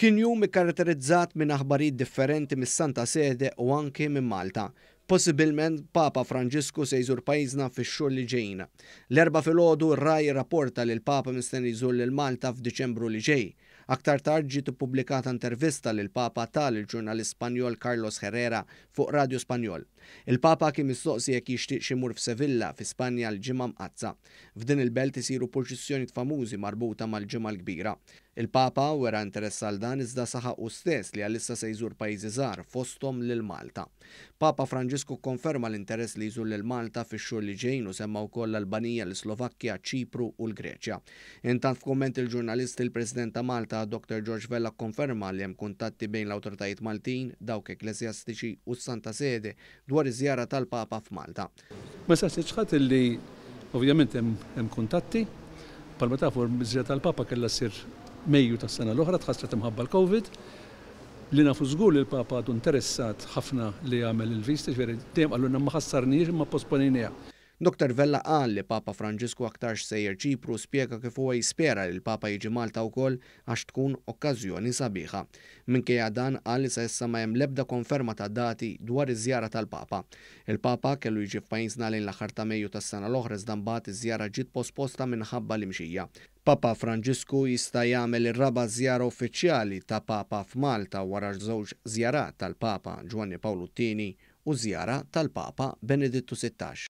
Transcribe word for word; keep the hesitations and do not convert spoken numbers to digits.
Kien jum ikkaratterizzat minn aħbarijiet differenti mis-Santa Sede u anke minn Malta. Possibilment Papa Franġisku se jżur pajjiżna fix-xhur li ġejjin. L-Erbgħa filgħodu r-Rai rapporta li l-Papa mistenni jżur lil Malta f'Diċembru li ġej. Aktar tard ġiet ippubblikata intervista li l-Papa ta lill-ġurnalist Spanjol Carlos Herrera fuq Radio Spanjol. Il-Papa kien mistoqsi jekk jixtieqx imur f'Sevilla fi Spanja l-Ġimgħa Mqaddsa. F'din il-belt isiru purċissjonijiet famużi marbuta mal-Ġimgħa l-Kbira. Il-Papa wera interess għal dan, iżda saħaq hu stess li għalissa se jżur pajjiżi żgħar, fosthom lil Malta. Papa Franġisku kkonferma l-interess li jżur lil Malta fix-xhur li ġejjin u semma wkoll l-Albanija, l-Slovakkja, Ċipru u l-Greċja. Intant, f'kumment lill-ġurnalisti, il-President ta' Malta Doctor George Vella kkonferma li hemm kuntatti bejn l-awtoritajiet Maltin, dawk ekklesjastiċi u s-Santa Sede dwar iż-żjara tal-Papa f'Malta. Ma saqsitx ħadd illi ovvjament hemm kuntatti. Bħalma tafu, iż-żjara tal-Papa kellha ssir Mejju tas-sena l-oħra, tħassret imħabba l-Covid. Li nafu żgur li l-Papa għadu interessat ħafna li jagħmel il-viżta, ġifieri dejjem qalulna ma ħassarniex imma posponejniha. Doctor Vella qal li Papa Franġisku aktarx sejjer Ċipru, spjega kif huwa jispera li l-Papa jiġi Malta wkoll għax tkun okkażjoni sabiħa. Minkejja dan, qal li sa issa ma hemm l-ebda konferma ta' dati dwar iż-żjara tal-Papa. Il-Papa kellu jiġi f'pajjiżna lejn l-aħħar ta' Mejju tas-sena l-oħra, iżda mbagħad iż-żjara ġiet posposta minħabba l-imxija. Papa Franġisku jista' jagħmel ir-raba' żjara uffiċjali ta' Papa f'Malta wara żewġ żjarat tal-Papa Ġwanni Pawlu t-Tieni u żjara tal-Papa Benedittu Sittax.